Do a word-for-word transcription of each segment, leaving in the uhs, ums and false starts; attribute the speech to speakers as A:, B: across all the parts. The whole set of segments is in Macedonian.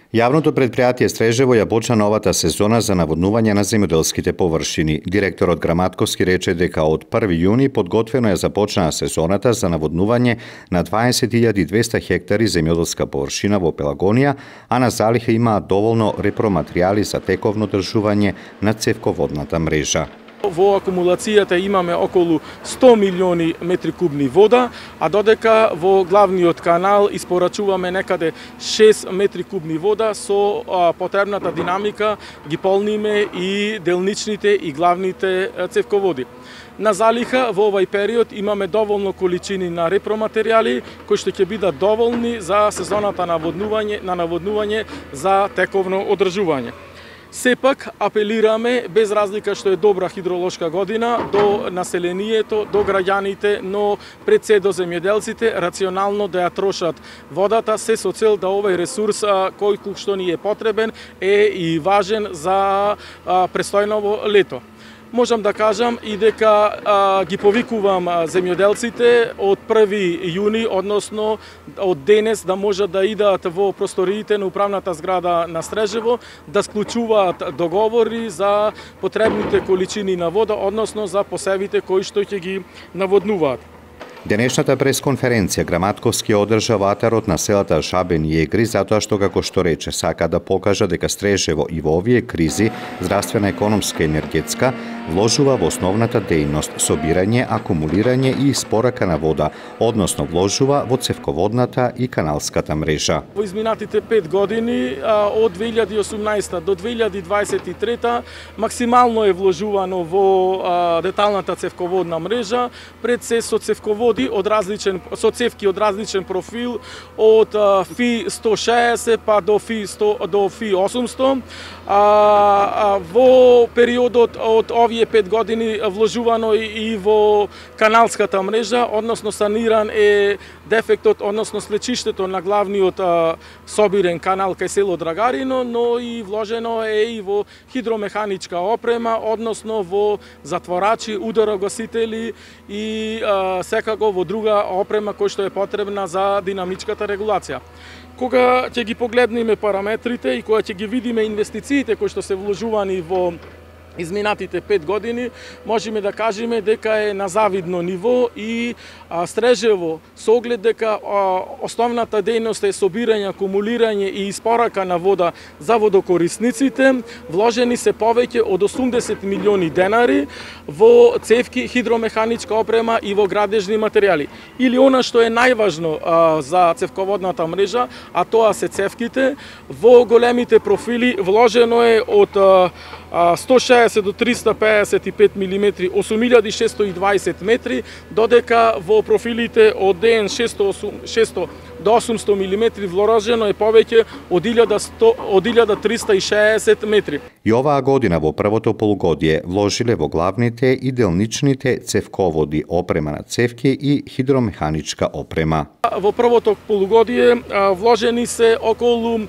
A: Јавното предпријатие Стрежево ја почна новата сезона за наводнување на земјоделските површини. Директорот Граматковски рече дека од први јуни подготвено е започнаа сезоната за наводнување на дваесет илјади и двесте хектари земјоделска површина во Пелагонија, а на залиха имаат доволно репроматеријали за тековно одржување на цевководната мрежа.
B: Во акумулацијата имаме околу сто милиони метри кубни вода, а додека во главниот канал испорачуваме некаде шест метри кубни вода со а, потребната динамика ги полниме и делничните и главните цевководи. На залиха во овај период имаме доволно количини на репроматеријали кои што ќе бидат доволни за сезоната на наводнување, на наводнување за тековно одржување. Сепак апелираме, без разлика што е добра хидролошка година, до населението, до граѓаните, но пред се до земјоделците, рационално да ја трошат водата, се со цел да овој ресурс кој што ни е потребен е и важен за престојново лето. Можам да кажам и дека а, ги повикувам земјоделците од први јуни, односно од денес да можат да идат во просториите на управната зграда на Стрежево, да склучуваат договори за потребните количини на вода, односно за посевите кои што ќе ги наводнуваат.
A: Денешната пресконференција Граматковски одржа во атарот на селата Шабен и Егри затоа што, како што рече, сака да покажа дека Стрежево и во овие кризи, здравствена, економска и енергетска, вложува во основната дејност, собирање, акумулирање и испорака на вода, односно вложува во цевководната и каналската мрежа.
B: Во изминатите пет години, од две илјади и осумнаесета до две илјади дваесет и трета, максимално е вложувано во деталната цевководна мрежа, пред се со цевководи од различен, со цевки од различен профил, од Фи сто шеесет па до Фи сто, до Фи осумсто. А, а, во периодот од овие пет години вложувано и во каналската мрежа, односно саниран е дефектот, односно слечиштето на главниот а, собирен канал кај село Драгарино, но и вложено е и во хидромеханичка опрема, односно во затворачи, ударогасители и а, секако во друга опрема која што е потребна за динамичката регулација. Кога ќе ги погледнеме параметрите и кога ќе ги видиме инвестициите кои што се вложувани во изминатите пет години, можеме да кажеме дека е на завидно ниво и а, Стрежево, со оглед дека а, основната дејност е собирање, акумулирање и испорака на вода за водокорисниците, вложени се повеќе од осумдесет милиони денари во цевки, хидромеханичка опрема и во градежни материјали. Или она што е најважно а, за цевководната мрежа, а тоа се цевките, во големите профили вложено е од а, сто шеесет до триста пеесет и пет милиметри, осум илјади шестsto и дваесет метри, додека во профилите од ДН шесто до осумсто милиметри вложено е повеќе од илјада триста и шеесет метри.
A: И оваа година во првото полугодие вложиле во главните и делничните цевководи, опрема на цевки и хидромеханичка опрема.
B: Во првото полугодие вложени се околу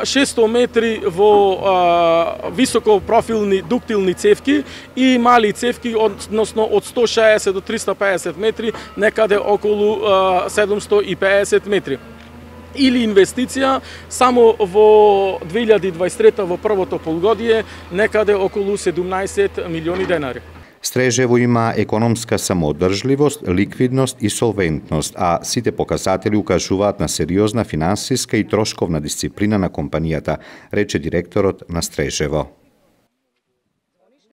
B: шестsto метри во високопрофилни дуктилни цевки и мали цевки, односно од сто шеесет до триста пеесет метри, некаде околу седумсто и пеесет метри. Или инвестиција само во две илјади дваесет и трета во првото полугодие некаде околу седумнаесет милиони денари.
A: Стрежево има економска самоодржливост, ликвидност и солвентност, а сите показатели укажуваат на сериозна финансиска и трошковна дисциплина на компанијата, рече директорот на Стрежево.